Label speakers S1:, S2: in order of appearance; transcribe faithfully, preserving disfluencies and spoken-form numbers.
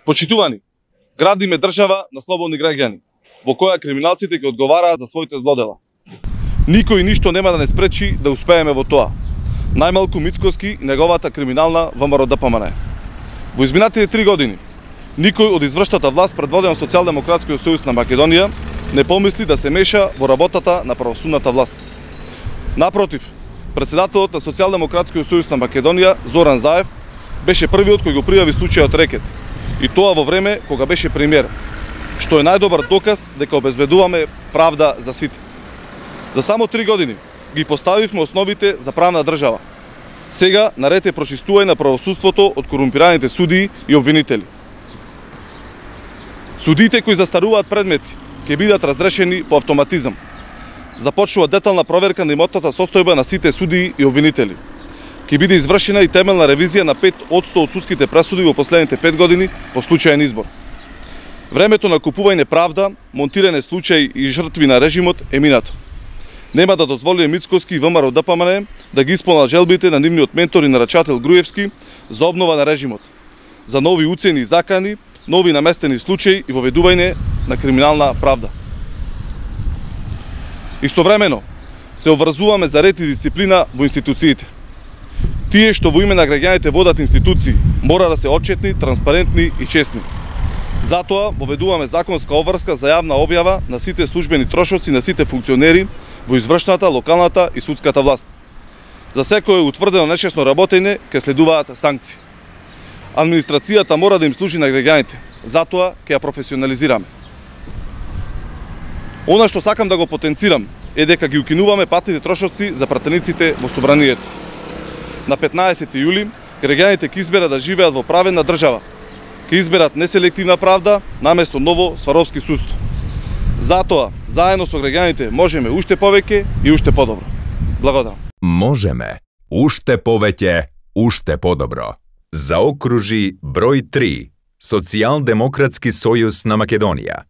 S1: Почитувани, градиме држава на слободни граѓани, во која криминалците ќе одговараат за своите злодела. Никој ништо нема да не спречи да успееме во тоа. Најмалку Мицкоски и неговата криминална ВМРО-ДПМН. Во изминатите три години, никој од извршната власт предводена од Социјалдемократскиот сојуз на Македонија не помисли да се меша во работата на правосудната власт. Напротив, председателот на Социјалдемократскиот сојуз на Македонија, Зоран Заев, беше првиот кој го пријави случајот Рекет, и тоа во време кога беше премиер, што е најдобар доказ дека обезбедуваме правда за сите. За само три години ги поставивме основите за правна држава. Сега наред е прочистување на правосудството од корумпираните судии и обвинители. Судиите кои застаруваат предмети ќе бидат разрешени по автоматизам. Започнува детална проверка на имотната состојба на сите судии и обвинители. Ќе биде извршена и темелна ревизија на пет одсто од судските пресуди во последните пет години по случајен избор. Времето на купување правда, монтирање случаи и жртви на режимот е минато. Нема да дозволиме Мицкоски и ВМРО-ДПМН да ги исполнат желбите на нивниот ментор и нарачател Груевски за обнова на режимот, за нови уцени и закани, нови наместени случаи и воведување на криминална правда. Истовремено, се обврзуваме за ред и дисциплина во институциите. Тие што во име на граѓаните водат институции мора да се отчетни, транспарентни и честни. Затоа воведуваме законска обврска за јавна објава на сите службени трошоци на сите функционери во извршната, локалната и судската власт. За секое утврдено нечесно работење ќе следуваат санкции. Администрацијата мора да им служи на граѓаните, затоа ќе ја професионализираме. Она што сакам да го потенцирам е дека ги укинуваме патните трошоци за пратениците во собранието. На петнаесети јули граѓаните ќе изберат да живеат во праведна држава. Ќе изберат неселективна правда наместо ново сваровски судство. Затоа, заедно со граѓаните можеме уште повеќе и уште подобро. Благодарам.
S2: Можеме уште повеќе, уште подобро. Заокружи број три. Социјалдемократски сојуз на Македонија.